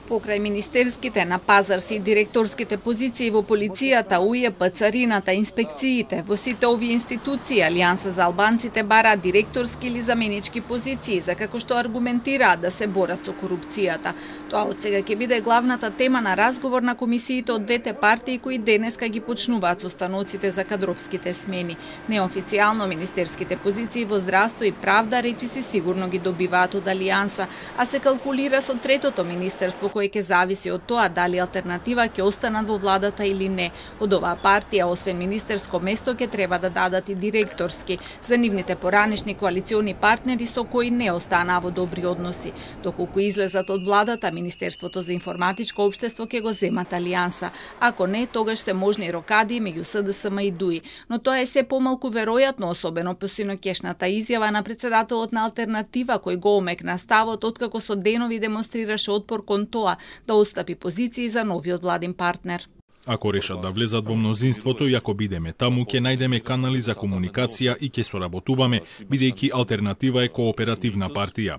Покрај министерските, на пазарси и директорските позиции во полицијата, УЈП, царината, инспекциите, во сите овие институции Алијанса за албанците бара директорски или заменички позиции, за како што аргументираат да се борат со корупцијата. Тоа од сега ќе биде главната тема на разговор на комисиите од двете партии кои денеска ги почнуваат состаноците за кадровските смени. Неофицијално министерските позиции во здравство и правда речиси сигурно ги добиваат од Алијанса, а се калкулира со третото министерство кој ќе зависи од тоа дали алтернатива ќе останат во владата или не. Од оваа партија, освен министерско место, ќе треба да дадат и директорски за нивните поранешни коалициони партнери со кои не останаа во добри односи. Доколку излезат од владата, Министерството за информатичко општество ќе го земат Алијанса. Ако не, тогаш се можни рокади меѓу СДСМ и ДУИ. Но тоа е се помалку веројатно, особено по синокешната изјава на председателот на алтернатива кој го омекна ставот откако со денови демонстрираше отпор кон тоа да отстапи позиции за новиот владин партнер. Ако решат да влезат во мнозинството и ако бидеме таму, ќе најдеме канали за комуникација и ќе соработуваме, бидејќи алтернатива е кооперативна партија.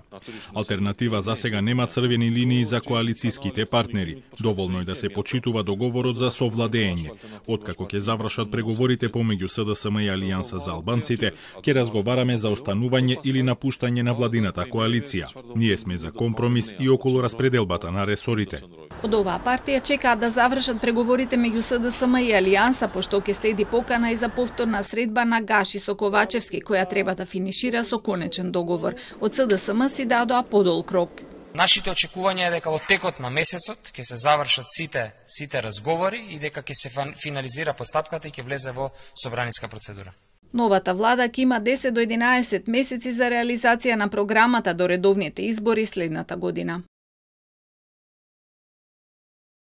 Алтернатива засега нема црвени линии за коалицијските партнери. Доволно е да се почитува договорот за совладење. Откако ќе завршат преговорите помеѓу СДСМ и Алијанса за албанците, ќе разговараме за останување или напуштање на владината коалиција. Ние сме за компромис и околу распределбата на ресорите. Од оваа партија чекаат да завршат преговорите меѓу СДСМ и Алијанса, пошто ќе следи покана и за повторна средба на Гаши со Ковачевски, која треба да финишира со конечен договор. Од СДСМ си дадоа подолг рок. Нашите очекувања е дека во текот на месецот ќе се завршат сите разговори и дека ќе се финализира постапката и ќе влезе во собраниска процедура. Новата влада ќе има 10 до 11 месеци за реализација на програмата до редовните избори следната година.